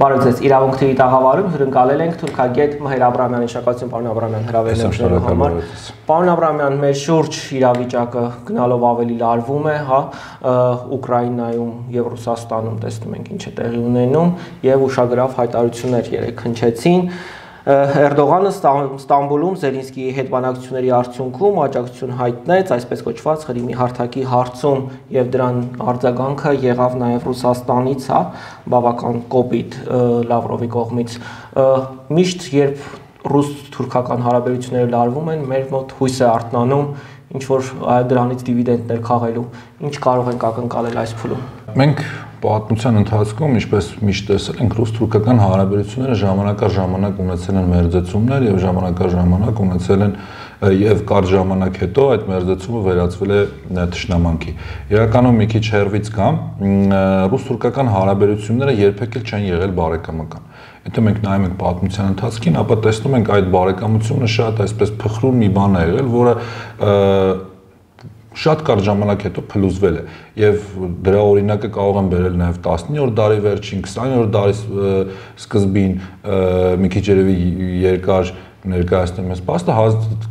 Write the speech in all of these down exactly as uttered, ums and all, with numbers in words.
Բարև ձեզ, իրավունք թերի տաղավարում հյուրընկալել ենք թուրքագետ Մհեր Աբրահամյանի, շնորհակալություն պարոն Աբրահամյան հրավերն ընդունելու համար։ Պարոն Աբրահամյան, մեր շուրջ իրավիճակը գնալով ավելի լարվում է, հա, Ուկրաինայում եւ Ռուսաստանում տեսնում ենք ինչ է տեղի ունենում եւ ուշագրավ հայտարարություններ երեք հնչեցին։ Էրդողանը Ստամբուլում Զելինսկիի հետ բանակցությունների արդյունքում աջակցություն հայտնեց այսպես կոչված Ղրիմի հարթակի հարցում եւ դրան արձագանքը եղավ նաեւ Ռուսաստանից, հա, բավական կոպիտ Լավրովի կողմից։ Միշտ երբ ռուս-թուրքական հարաբերությունները լարվում են, մեր մոտ հույս է արթնանում ինչ որ դրանից դիվիդենդներ քաղելու։ Ինչ կարող ենք ակնկալել այս փուլում։ Մենք պատմության ընթացքում, ինչպես միշտ տեսել ենք, ռուս-թուրքական հարաբերությունները ժամանակ առ ժամանակ ունեցել են մերձեցումներ եւ ժամանակ առ ժամանակ ունեցել են եւ կարճ ժամանակ հետո այդ մերձեցումը վերածվել է թշնամանքի։ Իրականում մի քիչ հերվից կամ ռուս-թուրքական հարաբերությունները երբեք էլ չեն եղել բարեկամական։ Եթե մենք նայում ենք պատմության ընթացքին, ապա տեսնում ենք այդ բարեկամությունը շատ այսպես փխրուն մի բան է եղել, որը շատ կարճ ժամանակ հետո փլուզվել է եւ դրա օրինակը կարող են բերել նաեւ տասնյորդ դարի վերջին, քսաներորդ դարի սկզբին, մի քիչ երևի երկար ներկայացնեմ այս փաստը,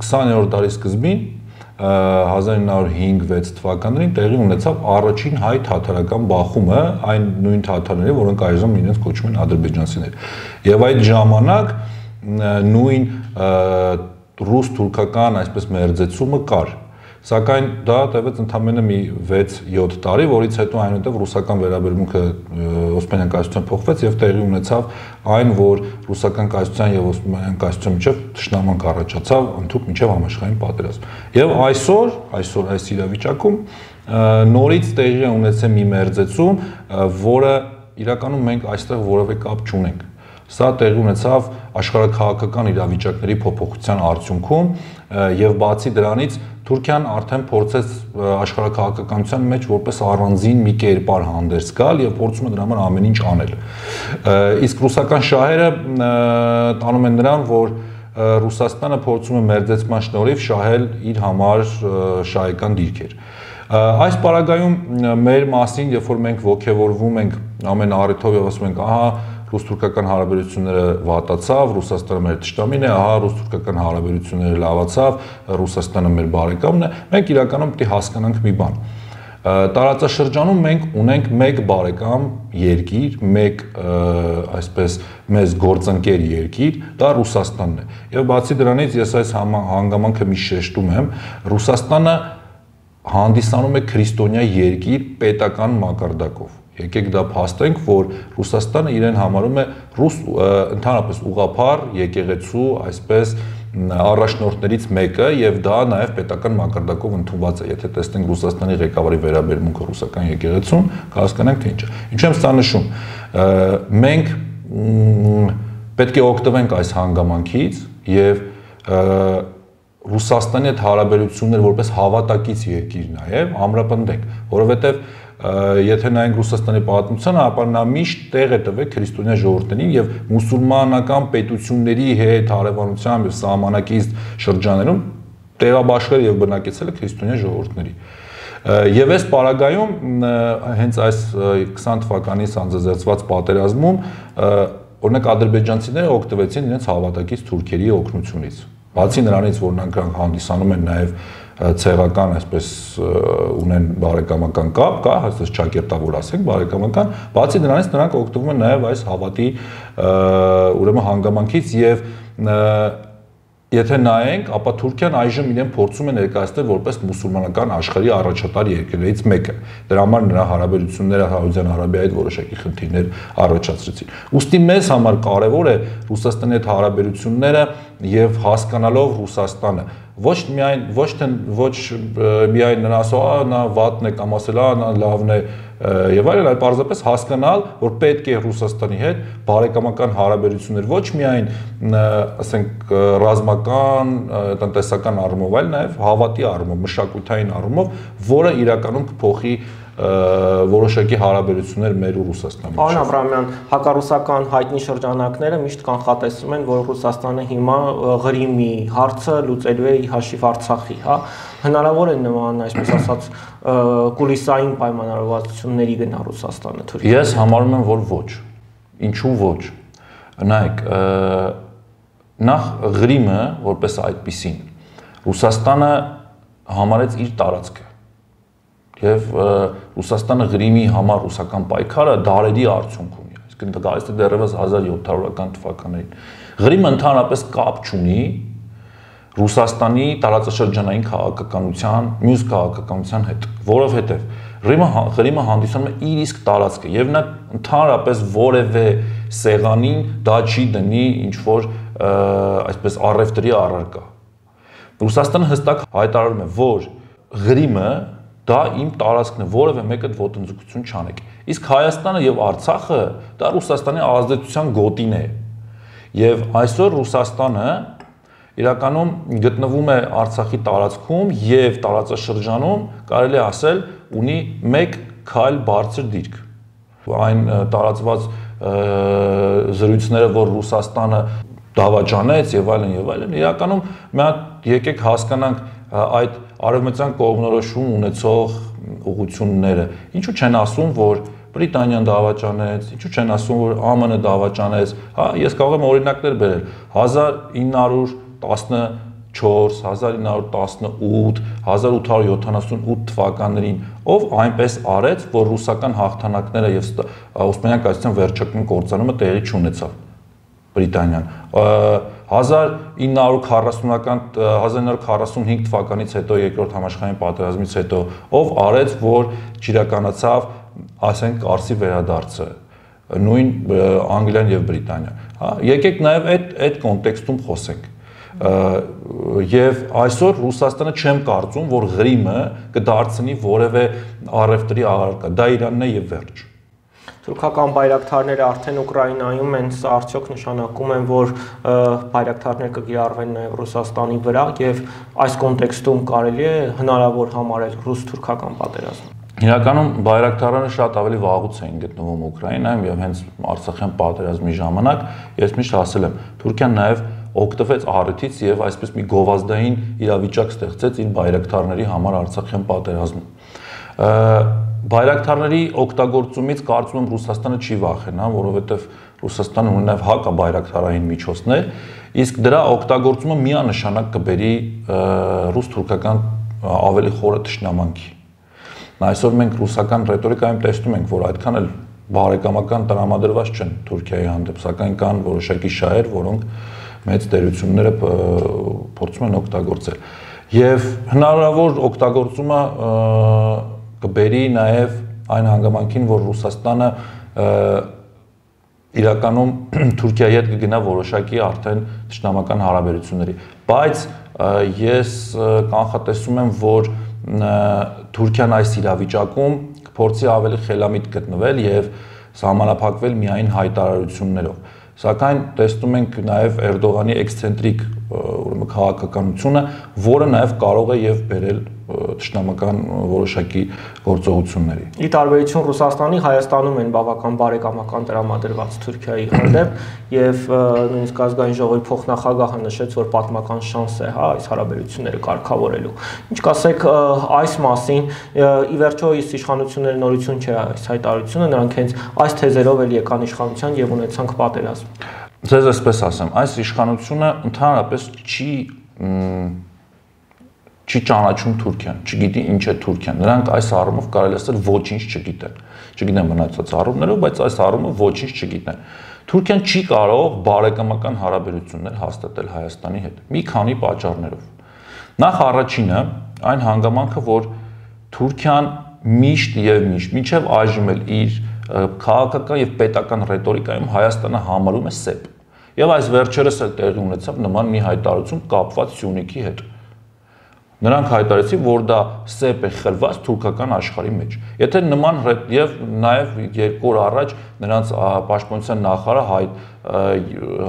քսաներորդ դարի սկզբին հազար ինը հարյուր հինգ վեց թվականներին տեղի ունեցավ առաջին հայ-թաթարական բախումը այն նույն թաթարների, որոնք այժմ իրենց կոչում են ադրբեջանցիներ։ Եվ այդ ժամանակ նույն ռուս-թուրքական այսպես մերձեցումը կար։ Սակայն դա տևեց ընդամենը մի վեց-յոթ տարի, որից հետո այնուհետև ռուսական վերաբերմունքը Օսմանյան կայսրության փոխվեց եւ տեղի ունեցավ այն, որ ռուսական կայսրության եւ Օսմանյան կայսրության միջեւ թշնամանք առաջացավ ընդհանուր միջև համաշխարհային պատերազմ։ Եվ այսօր, այսօր այս իրավիճակում նորից տեղի է ունեցել մի մերձեցում, որը իրականում մենք այստեղ որևէ կապ չունենք։ Սա տեղի ունեցավ աշխարհաքաղաքական իրավիճակների փոփոխության արդյունքում եւ բացի դրանից Թուրքիան արդեն փորձեց աշխարհաքաղաքականության մեջ որպես առանձին մի կերպար հանդես գալ եւ փորձում է դրա համար ամեն ինչ անել։ Իսկ ռուսական շահերը տանում են նրան, որ Ռուսաստանը փորձում է մերձեցման շնորհիվ շահել իր համար շահեկան դիրքեր։ Այս պարագայում մեր մասին, երբ որ մենք ոգևորվում ենք ամեն առիթով եւ ասում ենք, ահա ռուս-թուրքական հարաբերությունները վատացավ, Ռուսաստանը մեր թշնամին է, ահա ռուս-թուրքական հարաբերությունները լավացավ, Ռուսաստանը մեր բարեկամն է, մենք իրականում պետք է հասկանանք մի բան։ Տարածաշրջանում մենք ունենք մեկ բարեկամ երկիր, մեկ այսպես մեզ գործընկեր երկիր, դա Ռուսաստանն է։ Եվ բացի դրանից ես այս հանգամանքը մի շեշտում եմ, Ռուսաստանը հանդիսանում է քրիստոնյա երկիր պետական մակարդակով։ Եկեք դա փաստենք, որ Ռուսաստանը իրեն համարում է ռուս ընդհանրապես ուղղափառ եկեղեցու այսպես առաջնորդներից մեկը եւ դա նաեւ պետական մակարդակով ընդունված է։ Եթե տեսնենք Ռուսաստանի ղեկավարի վերաբերմունքը ռուսական եկեղեցուն, կհասկանանք թե ինչ է։ Ինչու եմ սա նշում։ Մենք պետք է օգտվենք այս հանգամանքից եւ Ռուսաստանի հետ հարաբերություններ որպես հավատակից երկիր նաեւ ամրապնդենք, որովհետեւ եթե նայենք Ռուսաստանի պատմությանը, ապա նա միշտ տեղ է տվել քրիստոնյա ժողովուրդներին եւ մուսուլմանական պետությունների հետ հարևանությամբ եւ սահմանակից շրջաներում տեղաբաշխել եւ բնակեցել է քրիստոնյա ժողովուրդների։ Եվ այս պարագայում հենց այս քսան թվականին սանձազերծված պատերազմում օրինակ ադրբեջանցիները օգտվեցին իրենց հավատակից թուրքերի օգնությունից։ Բացի նրանից, որ նրանք հանդիսանում են նաեւ ցեղական այսպես ունեն բարեկամական կապ, կա, այսպես ճակերտավոր ասենք, բարեկամական, բացի դրանից նրանք օգտվում են նաև այս հավատի ուրեմն հանգամանքից եւ եթե նայենք, ապա Թուրքիան այժմ իրեն փորձում է ներկայացնել որպես մուսուլմանական աշխարհի առաջատար երկրներից մեկը։ Դրա համար նրա հարաբերությունները Սաուդյան Արաբիայի հետ որոշակի խնդիրներ առաջացրեցին։ Ուստի մեզ համար կարևոր է Ռուսաստանի հետ հարաբերությունները եւ հասկանալով Ռուսաստանը ոչ միայն ոչ թե ոչ միայն նրան ասող, նա վատն է կամ ասել, նա լավն է եւ այլն, այլ պարզապես հասկանալ, որ պետք է Ռուսաստանի հետ բարեկամական հարաբերություններ ոչ միայն ասենք ռազմական, տնտեսական առումով, այլ նաեւ հավատի առումով, մշակութային առումով, որը իրականում կփոխի որոշակի հարաբերություններ մեր ու Ռուսաստանի միջեւ։ Պարոն Աբրահամյան, հակառուսական հայտնի շրջանակները միշտ կանխատեսում են, որ Ռուսաստանը հիմա Ղրիմի հարցը լուծելու է հաշիվ Արցախի, հա, հնարավոր է նման, այսպես ասած, կուլիսային պայմանավորվածությունների գնա Ռուսաստանը Թուրքիայի։ Ես համարում եմ, որ ոչ։ ինչու ոչ։ Նայեք, նախ Ղրիմը որպես այդպիսին Ռուսաստանը համարեց իր տարածքը եւ Ռուսաստանը Ղրիմի համար ռուսական պայքարը դարերի արդյունք ունի, այսինքն դա գալիս է դեռևս հազար յոթ հարյուրական թվականներին։ Ղրիմը ընդհանրապես կապ չունի Ռուսաստանի տարածաշրջանային քաղաքականության, մյուս քաղաքականության հետ, որովհետեւ Ղրիմը Ղրիմը հանդիսանում է իր իսկ տարածքը եւ նա ընդհանրապես որևէ սեղանին դա չի դնի ինչ որ այսպես առևտրի առարկա։ Ռուսաստանը հստակ հայտարարում է, որ Ղրիմը դա իմ տարածքն է, որևէ մեկը ոտնձգություն չանեք։ Իսկ Հայաստանը եւ Արցախը դա Ռուսաստանի ազդեցության գոտին է։ Եվ այսօր Ռուսաստանը իրականում գտնվում է Արցախի տարածքում եւ տարածաշրջանում, կարելի է ասել, ունի մեկ քայլ բարձր դիրք։ Այն տարածված զրույցները, որ Ռուսաստանը դավաճանեց եւ այլն եւ այլն, իրականում մի հատ եկեք հասկանանք այդ արևմտյան կողմնորոշում ունեցող ուղղությունները։ Ինչու չեն ասում, որ Բրիտանիան դավաճանեց, ինչու չեն ասում, որ ԱՄՆ-ը դավաճանեց, հա, ես կարող եմ օրինակներ բերել հազար ինը հարյուր տասնչորս, հազար ինը հարյուր տասնութ, հազար ութ հարյուր յոթանասունութ թվականներին, ով այնպես արեց, որ ռուսական հաղթանակները եւ Օսմանյան կայսրության վերջական կործանումը տեղի չունեցավ։ Բրիտանիան հազար ինը հարյուր քառասունական հազար ինը հարյուր քառասունհինգ թվականից հետո երկրորդ համաշխարհային պատերազմից հետո ով արեց, որ ճիրականացավ, ասենք, Կարսի վերադարձը, նույն Անգլիան եւ Բրիտանիան, հա, եկեք նաեւ այդ այդ կոնտեքստում խոսենք։ Եվ այսօր Ռուսաստանը չեմ կարծում, որ Ղրիմը կդարձնի որևէ առևտրի առարկա, դա Իրանն է եւ վերջ։ Թուրքական բայրակթարները արդեն Ուկրաինայում են, սա արդյոք նշանակում են, որ բայրակթարներ կկիրառվեն նաև Ռուսաստանի վրա եւ այս կոնտեքստում կարելի է հնարավոր համարել ռուս-թուրքական պատերազմ։ Իրականում բայրակթարները շատ ավելի վաղուց էին գտնվում Ուկրաինայում եւ հենց Արցախյան պատերազմի ժամանակ ես միշտ ասել եմ, Թուրքիան նաև օգտվեց առիթից եւ այսպես մի գովազդային իրավիճակ ստեղծեց իր բայրակթարների համար Արցախյան պատերազմում։ Բայրակթարների օգտագործումից կարծում եմ Ռուսաստանը չի վախենա, որովհետև Ռուսաստանը ունի նաև հակաբայրակթարային միջոցներ, իսկ դրա օգտագործումը միանշանակ կբերի ռուս-թուրքական ավելի խորը թշնամանքի։ Այսօր մենք ռուսական ռետորիկայում տեսնում ենք, որ այդքան էլ բարեկամական տրամադրված չեն Թուրքիայի հանդեպ, սակայն կան որոշակի շահեր, որոնք մեծ տերությունները փորձում են օգտագործել։ Եվ հնարավոր օգտագործումը կբերի նաև այն հանգամանքին, որ Ռուսաստանը իրականում Թուրքիայի հետ կգնա որոշակի արդեն թշնամական հարաբերությունների, բայց ես կանխատեսում եմ, որ Թուրքիան այս իրավիճակում կփորձի ավելի խելամիտ գտնվել եւ սահմանափակվել միայն հայտարարություններով։ Սակայն տեսնում ենք նաև Էրդողանի էքսցենտրիկ ուրեմն քաղաքականությունը, որը նաև կարող է եւ բերել թշնամական որոշակի գործողությունների։ Ի տարբերություն Ռուսաստանի, Հայաստանում են բավական բարեկամական տրամադրված Թուրքիայի հանդեպ եւ նույնիսկ ազգային ժողովի փոխնախագահը նշեց, որ պատմական շանս է, հա, այս հարաբերությունները կարգավորելու։ Ինչ կասեք այս մասին, ի վերջո իսկ իշխանությունների նորություն չէ այս հայտարարությունը, նրանք հենց այս թեզերով էլ եկան իշխանության եւ ունեցանք պատերազմ։ Ձեզ այսպես ասեմ, այս իշխանությունը ընդհանրապես չի չի ճանաչում Թուրքիան, չգիտի ինչ է Թուրքիան։ Նրանք այս առումով կարելի ասել ոչինչ չգիտեն։ Չգիտեն մնացած առումներով, բայց այս առումով ոչինչ չգիտեն։ Թուրքիան չի կարող բարեկամական հարաբերություններ հաստատել Հայաստանի հետ մի քանի պատճառներով։ Նախ առաջինը այն հանգամանքը, որ Թուրքիան միշտ եւ միշտ, մինչեւ այժմ էլ իր քաղաքական եւ պետական ռետորիկայում Հայաստանը համարում է սեպ։ Եվ այս վերջերս էլ տեղի ունեցավ նման մի հայտարարություն կապված Սյունիքի հետ։ Նրանք հայտարարեցին, որ դա սեպ է խլված թուրքական աշխարհի մեջ։ Եթե նման եւ նաեւ երկու օր առաջ նրանց պաշտպանության նախարարը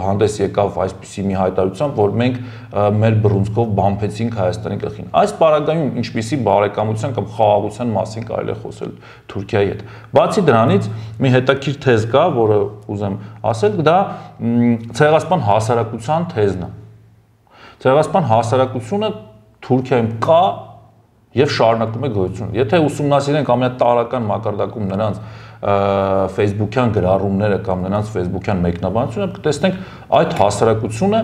հանդես եկավ այսպիսի մի հայտարարությամբ, որ մենք մեր բռունցքով բամփեցինք Հայաստանի գլխին։ Այս պարագայում ինչպիսի բարեկամության կամ խաղաղության մասին կարելի է խոսել Թուրքիայի հետ։ Բացի դրանից մի հետաքրքիր թեզ կա, որը ուզեմ ասել, դա ցեղասպան հասարակության թեզն է։ Ցեղասպան հասարակությունը Թուրքիայում կա եւ շարունակում է գոյություն։ Եթե ուսումնասիրենք ամենատարական մակարդակում նրանց Facebook-յան գրառումները կամ նրանց Facebook-յան մեկնաբանությունը, կտեսնենք այդ հասարակությունը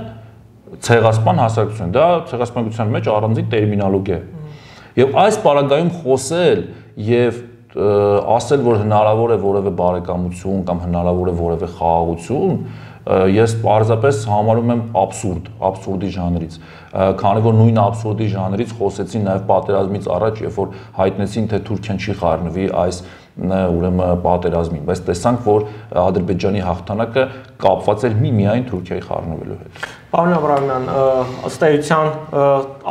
ցեղասպան հասարակություն, դա ցեղասպանության մեջ առանձին տերմինոլոգիա է։ Եվ այս պարագայում խոսել եւ ասել, որ հնարավոր է որևէ բարեկամություն կամ հնարավոր է որևէ խաղաղություն, ես պարզապես համարում եմ աբսուրդ, աբսուրդի ժանրից, քանի որ նույն աբսուրդի ժանրից խոսեցին նաև պատերազմից առաջ, երբ որ հայտնեցին, թե Թուրքիան չի խառնվի այս ուրեմն պատերազմին, բայց տեսանք, որ Ադրբեջանի հաղթանակը կապված էր միմիայն Թուրքիայի խառնվելու հետ։ Պարոն Աբրահամյան, ըստ էության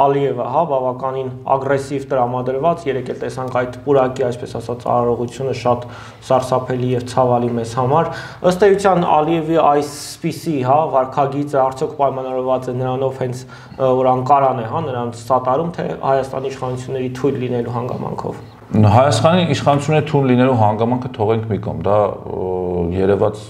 Ալիևը, հա, բավականին ագրեսիվ տրամադրված, երեք էլ տեսանք այդ պուրակի, այսպես ասած, արարողությունը շատ սարսափելի եւ ցավալի մեզ համար։ Ըստ էության Ալիևի այսպիսի, հա, վարքագիծը արդյոք պայմանավորված է նրանով հենց որ Անկարան է, հա, նրանց սատարում, թե Հայաստանի իշխանությունների թույլ լինելու հանգամանքով։ Հայաստանի իշխանությունների թույլ լինելու հանգամանքը թողենք մի կողմ, դա երևաց,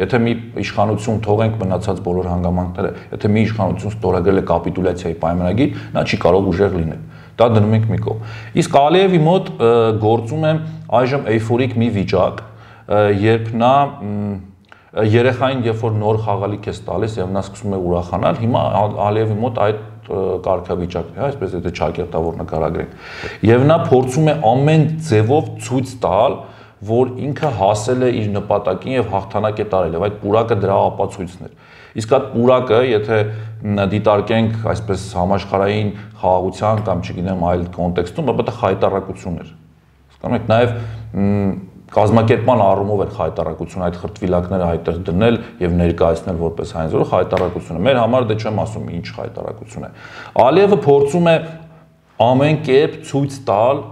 եթե մի իշխանություն թողենք մնացած բոլոր հանգամանքները, եթե մի իշխանություն ստորագրել է կապիտուլյացիայի պայմանագիր, նա չի կարող ուժեղ լինել։ Դա դնում ենք մի կողմ։ Իսկ Ալիևի մոտ գործում է այժմ էյֆորիկ մի վիճակ, երբ նա երեխային երբ որ նոր խաղալիք է տալիս եւ նա սկսում է ուրախանալ, հիմա Ալիևի մոտ այդ կարգավիճակն է, այսպես եթե ճակերտավոր նկարագրենք։ Եվ նա փորձում է ամեն ձևով ցույց տալ, որ ինքը հասել է իր նպատակին եւ հաղթանակ է տարել, եւ այդ պուրակը դրա ապացույցն էր։ Իսկ այդ պուրակը, եթե դիտարկենք այսպես համաշխարհային խաղաղության կամ չգիտեմ այլ կոնտեքստում, ապա դա խայտարակություն էր։ Հասկանում եք, նաեւ կազմակերպման առումով էր խայտարակություն այդ խրտվիլակները այդտեղ դնել եւ ներկայացնել որպես հայնձորը խայտարակություն է։ Մեր համար դե չեմ ասում ինչ խայտարակություն է։ Ալիևը փորձում է ամեն կերպ ցույց տալ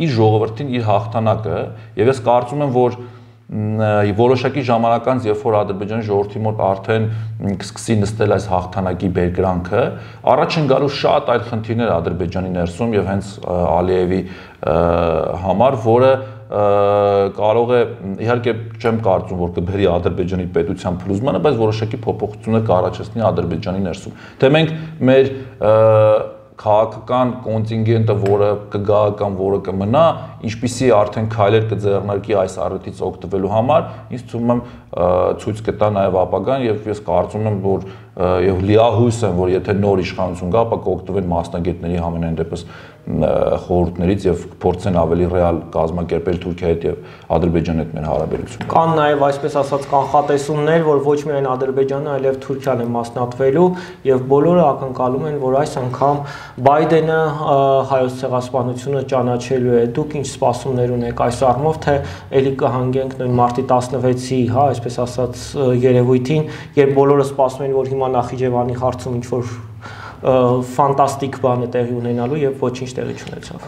իր ժողովրդին իր հաղթանակը եւ ես կարծում եմ, որ որոշակի ժամանակ անց, երբ որ Ադրբեջանի ժողովրդի մոտ արդեն կսկսի նստել այս հաղթանակի բերկրանքը, առաջ են գալու շատ այլ խնդիրներ Ադրբեջանի ներսում եւ հենց Ալիևի համար, որը կարող է, իհարկե չեմ կարծում, որ կբերի Ադրբեջանի պետության փլուզմանը, բայց որոշակի փոփոխություններ կառաջացնի Ադրբեջանի ներսում։ Թե մենք մեր քաղաքական կոնտինգենտը, որը կգա կամ որը կմնա, ինչպիսի արդեն քայլեր կձեռնարկի այս առիթից օգտվելու համար, ինձ թվում է ցույց կտա նաև ապագան եւ ես կարծում եմ, որ եւ լիահույս եմ, որ եթե նոր իշխանություն գա, ապա կօգտվեն մասնագետների համենայն դեպս խորհուրդներից եւ փորձեն ավելի ռեալ կազմակերպել Թուրքիայի հետ եւ Ադրբեջանի հետ մեր հարաբերությունները։ Կան նաեւ այսպես ասած կանխատեսումներ, որ ոչ միայն Ադրբեջանը, այլև Թուրքիան է մասնատվելու եւ բոլորը ակնկալում են, որ այս անգամ Բայդենը հայոց ցեղասպանությունը ճանաչելու է։ Դուք ինչ սպասումներ ունեք այս առումով, թե ելի կհանգենք նույն մարտի տասնվեցի, հա, այսպես ասած երևույթին, երբ բոլորը սպասում են, որ հիմա Նախիջևանի հարցում ինչ որ ֆանտաստիկ բան է տեղի ունենալու եւ ոչինչ տեղի չունեցավ։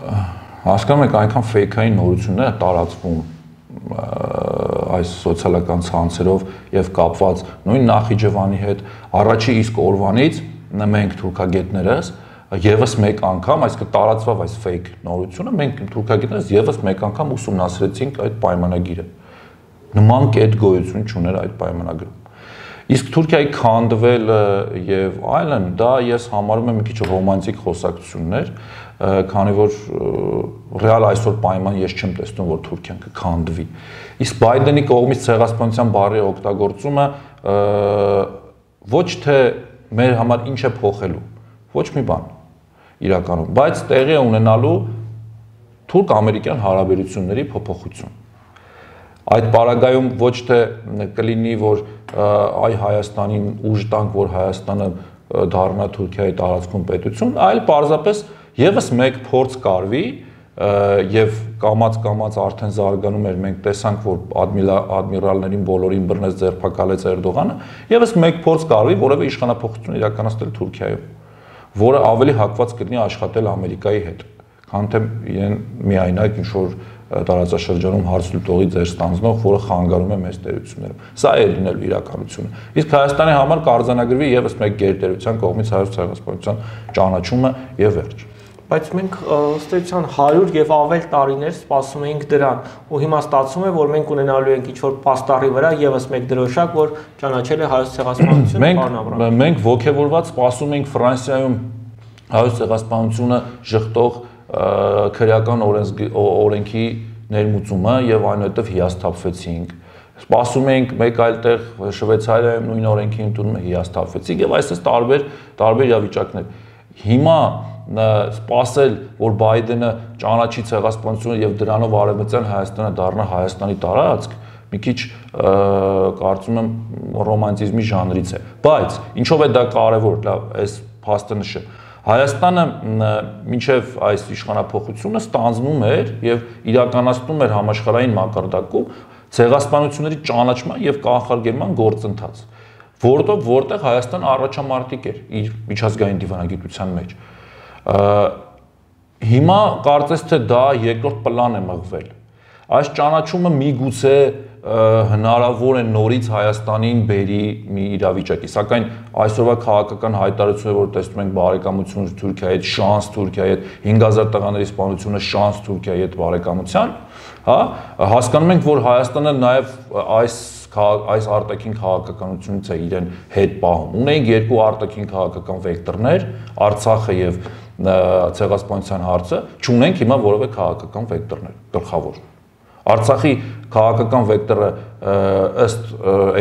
Հասկանում եք, այնքան ֆեյքային նորություններ տարածվում այս սոցիալական ցանցերով եւ կապված նույն Նախիջևանի հետ առաջի իսկ օրվանից մենք թուրքագետներս եւս մեկ անգամ, այսինքն տարածվավ այս ֆեյք նորությունը, մենք թուրքագետներս եւս մեկ անգամ ուսումնասիրեցինք այդ պայմանագիրը։ Նման կետ գոյություն չուներ այդ պայմանագրում։ Իսկ Թուրքիայի քանդվելը եւ այլն, դա ես համարում եմ մի քիչ ռոմանտիկ խոսակցություններ, քանի որ ռեալ այսօր պայման ես չեմ տեսնում, որ Թուրքիան կքանդվի։ Իսկ Բայդենի կողմից ցեղասպանության բառի օգտագործումը ոչ թե մեր համար ինչ է փոխելու, ոչ մի բան իրականում, բայց տեղի է ունենալու թուրք-ամերիկյան հարաբերությունների փոփոխություն։ Այդ պարագայում ոչ թե կլինի, որ այ Հայաստանին ուժ տանք, որ Հայաստանը դառնա Թուրքիայի տարածքում պետություն, այլ պարզապես եւս մեկ փորձ կարվի եւ կամած-կամած արդեն զարգանում էր, մենք տեսանք, որ ադմիրալներին բոլորին բռնեց ձերբակալեց Էրդողանը, եւս մեկ փորձ կարվի որևէ իշխանապողություն իրականացնել Թուրքիայում, որը ավելի հակված կլինի աշխատել Ամերիկայի հետ, քան թե իրեն միայնակ ինչ-որ տարածաշրջանում հարց լուծողի ձեր ստանձնող, որը խանգարում է մեծ տերություններում։ Սա է լինելու իրականությունը։ Իսկ Հայաստանի համար կարձանագրվի եւս մեկ գերտերության կողմից հայոց ցեղասպանության ճանաչումը եւ վերջ։ Բայց մենք ըստ էության հարյուր եւ ավել տարիներ սպասում էինք դրան, ու հիմա ստացվում է, որ մենք ունենալու ենք ինչ-որ պաստառի վրա եւս մեկ դրոշակ, որ ճանաչել է հայոց ցեղասպանությունը, պարոն Աբրահամյան։ Մենք ողջևորված սպասում ենք Ֆրանսիայում հայոց ցեղասպանությունը ժխտող քրեական օրենքի ներմուծումը եւ այնուհետեւ հիասթափվեցինք։ Սպասում էինք մեկ այլ տեղ Շվեյցարիայում նույն օրենքի ընդունումը հիասթափվեցինք եւ այսպես տարբեր տարբեր իրավիճակներ։ Հիմա սպասել, որ Բայդենը ճանաչի ցեղասպանությունը եւ դրանով Արևմտյան Հայաստանը դառնա Հայաստանի տարածք, մի քիչ կարծում եմ ռոմանտիզմի ժանրից է։ Բայց ինչով է դա կարեւոր, լավ, այս փաստը նշեմ։ Հայաստանը մինչև այս իշխանափոխությունը ստանձնում էր եւ իրականացնում էր համաշխարհային մակարդակում ցեղասպանությունների ճանաչման եւ կանխարգելման գործընթաց, որտեղ որտեղ Հայաստանը առաջամարտիկ էր իր միջազգային դիվանագիտության մեջ։ Հիմա կարծես թե դա երկրորդ պլան է մղվել։ Այս ճանաչումը միգուցե հնարավոր է նորից Հայաստանին բերի մի իրավիճակի, սակայն այսօրվա քաղաքական հայտարարությունը, որ տեսնում ենք բարեկամություն Թուրքիայի հետ, շանս Թուրքիայի հետ, հինգ հազար տղաների սպանությունը շանս Թուրքիայի հետ բարեկամության, հա, հասկանում ենք, որ Հայաստանը նաև այս այս արտաքին քաղաքականությունից է իրեն հետ պահում։ Ունենք երկու արտաքին քաղաքական վեկտորներ, Արցախը եւ ցեղասպանության հարցը, չունենք հիմա որևէ քաղաքական վեկտորներ գլխավոր։ Արցախի քաղաքական վեկտորը ըստ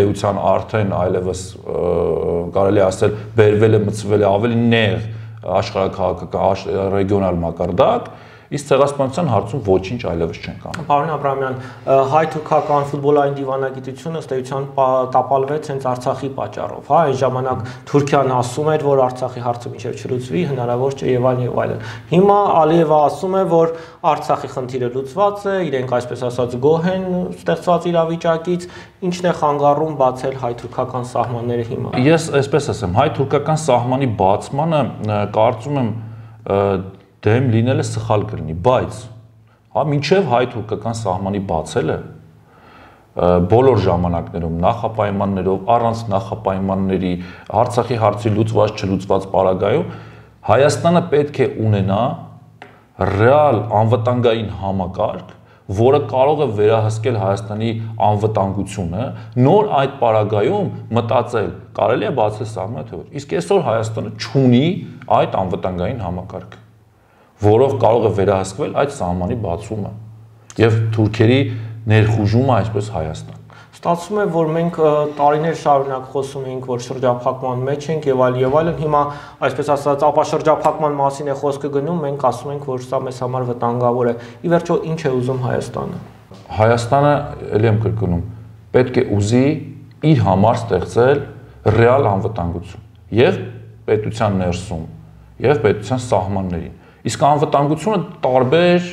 էության արդեն այլևս կարելի ասել բերվել է, մտցվել է ավելի նեղ աշխարհաքաղաքական ռեգիոնալ մակարդակ, իսկ ցեղասպանության հարցում ոչինչ այլևս չենք անում։ Պարոն Աբրամյան, հայ-թուրքական ֆուտբոլային դիվանագիտությունը ըստ էության տապալվեց հենց Արցախի պատճառով, հա, այն ժամանակ Թուրքիան ասում էր, որ Արցախի հարցը մինչև չլուծվի, հնարավոր չէ եւ այլն եւ այլն։ Հիմա Ալիևը ասում է, որ Արցախի խնդիրը լուծված է, իրենք այսպես ասած գոհ են ստեղծված իրավիճակից, ինչն է խանգարում բացել հայ-թուրքական սահմանները հիմա։ Ես այսպես ասեմ, հայ-թուրքական սահմանի բացմանը կարծում եմ դեմ լինելը սխալ կլինի, բայց հա մինչև հայ-թուրքական սահմանի բացելը բոլոր ժամանակներում նախապայմաններով, առանց նախապայմանների, Արցախի հարցի լուծված չլուծված պարագայում Հայաստանը պետք է ունենա ռեալ անվտանգային համակարգ, որը կարող է վերահսկել Հայաստանի անվտանգությունը, նոր այդ պարագայում մտածել, կարելի է բացել սահմանը թե ոչ։ Իսկ այսօր Հայաստանը չունի այդ անվտանգային համակարգը, որով կարող է վերահսկվել այդ սահմանի բացումը եւ թուրքերի ներխուժումը այսպես Հայաստան։ Ստացվում է, որ մենք տարիներ շարունակ խոսում ենք, որ շրջափակման մեջ ենք եւ այլ եւ այլն, հիմա այսպես ասած ապաշրջափակման մասին է խոսքը գնում, մենք ասում ենք, որ սա մեզ համար վտանգավոր է։ Ի վերջո ինչ է ուզում Հայաստանը։ Հայաստանը, ելի եմ կրկնում, պետք է ուզի իր համար ստեղծել ռեալ անվտանգություն եւ պետության ներսում եւ պետության սահմաններին։ Իսկ անվտանգությունը տարբեր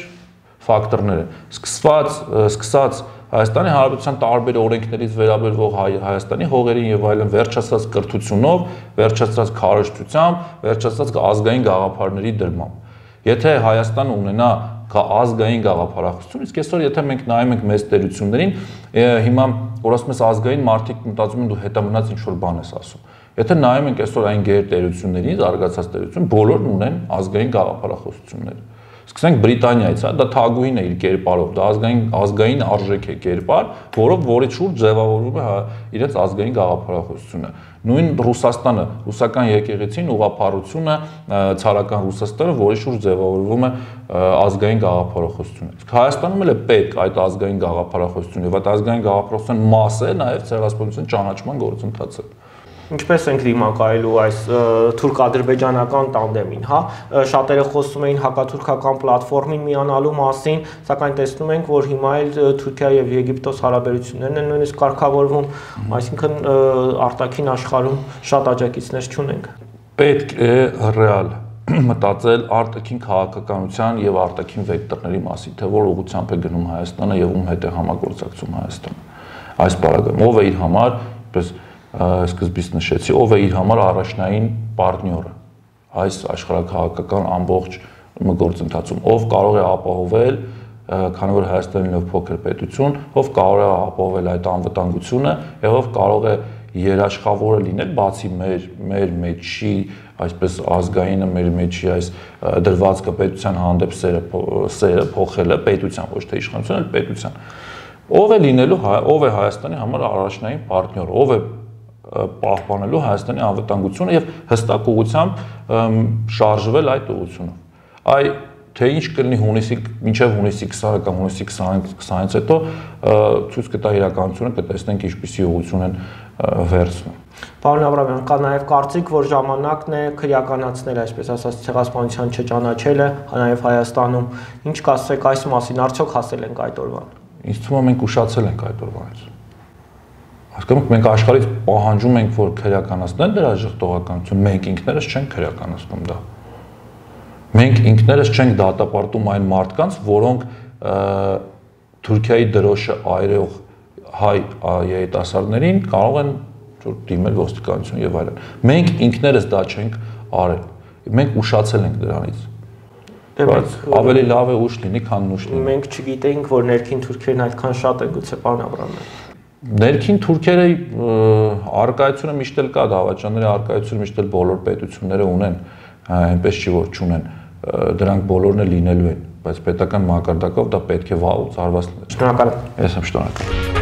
ֆակտորներ են։ Սկսված, սկսած Հայաստանի Հանրապետության տարբեր օրենքներից վերաբերող Հայաստանի հողերին եւ այլն, վերջացած կրթությունով, վերջացած քարոզչությամբ, վերջացած ազգային գաղափարների դրմամբ։ Եթե Հայաստանը ունենա ազգային գաղափարախոսություն, իսկ այսօր եթե մենք նայում ենք մեծ տերություններին, հիմա որ ասում ես ազգային, մարդիկ մտածում են դու հետամնաց ինչ որ բան ես ասում։ Եթե նայում ենք այսօր այն գեր տերությունների, զարգացած տերություն, բոլորն ունեն ազգային գաղափարախոսություններ։ Սկսենք Բրիտանիայից, հա, դա թագուհին է իր կերպարով, դա ազգային ազգային արժեք է կերպար, որով որի շուրջ ձևավորվում է իրենց ազգային գաղափարախոսությունը։ Նույն Ռուսաստանը, ռուսական եկեղեցին, ուղղափառությունը, ցարական Ռուսաստանը, որի շուրջ ձևավորվում է ազգային գաղափարախոսությունը։ Իսկ Հայաստանում էլ է պետք այդ ազգային գաղափարախոսությունը, եւ այդ ազգային գաղափարախոսության մաս է նաեւ ցեղասպանության ճանաչման գործընթացը։ Ինչպես ենք դիմակայելու այս թուրք-ադրբեջանական տանդեմին, հա, շատերը խոսում էին հակաթուրքական պլատֆորմին միանալու մասին, սակայն տեսնում ենք, որ հիմա էլ Թուրքիա եւ Եգիպտոս հարաբերություններն են նույնիսկ կարգավորվում, այսինքն արտաքին աշխարհում շատ աջակիցներ չունենք։ Պետք է ռեալ մտածել արտաքին քաղաքականության եւ արտաքին վեկտորների մասին, թե որ ուղղությամբ է գնում Հայաստանը եւ ում հետ է համագործակցում Հայաստանը։ Այս բaragam ով է իր համար, այսպես սկզբից նշեցի, ով է իր համար առաջնային պարտները այս աշխարհաքաղաքական ամբողջ գործընթացում, ով կարող է ապահովել, քանի որ Հայաստանը նոր փոքր պետություն, ով կարող է ապահովել այդ անվտանգությունը եւ ով կարող է երաշխավորը լինել, բացի մեր մեր մեջի այսպես ազգայինը մեր մեջի այս դրվածքը պետության հանդեպ սերը սերը փոխելը պետության, ոչ թե իշխանության, այլ պետության։ Ով է լինելու, ով է Հայաստանի համար առաջնային պարտներ, ով է պահպանելու Հայաստանի անվտանգությունը եւ հստակ ուղղությամբ շարժվել այդ ուղղությունով։ Այ թե ինչ կլինի հունիսի մինչև հունիսի քսանը կամ հունիսի քսանից հետո ցույց կտա իրականությունը, կտեսնենք ինչպիսի ուղղություն են վերցնում։ Պարոն Աբրամյան, կա նաև կարծիք, որ ժամանակն է քրեականացնել, այսպես ասած, ցեղասպանության չճանաչելը, նաև Հայաստանում։ Ինչ կասեք այս մասին, արդյոք հասել ենք այդ օրվան։ Ինձ թվում է մենք ուշացել ենք այդ օրվանից։ Հասկանում եք, մենք աշխարհից պահանջում ենք, որ քրեականացնեն դրա ժխտողականություն, մենք ինքներս չենք քրեականացնում դա։ Մենք ինքներս չենք դատապարտում այն մարդկանց, որոնք Թուրքիայի դրոշը այրող հայ երիտասարդներին կարող են դիմել ոստիկանություն եւ այլն։ Մենք ինքներս դա չենք արել։ Մենք ուշացել ենք դրանից։ Բայց ավելի լավ է ուշ լինի, քան նուշ լինի։ Մենք չգիտեինք, որ ներքին թուրքերն այդքան շատ են, գուցե պարոն Աբրամյան։ Ներքին թուրքերը արկայությունը միշտ էլ կա, դավաճանների արկայությունը միշտ էլ բոլոր պետությունները ունեն, այնպես չի որ չունեն։ Դրանք բոլորն էլ լինելու են, բայց պետական մակարդակով դա պետք է վաղուց արված լինի։ Շնորհակալ եմ։ Ես եմ շնորհակալ։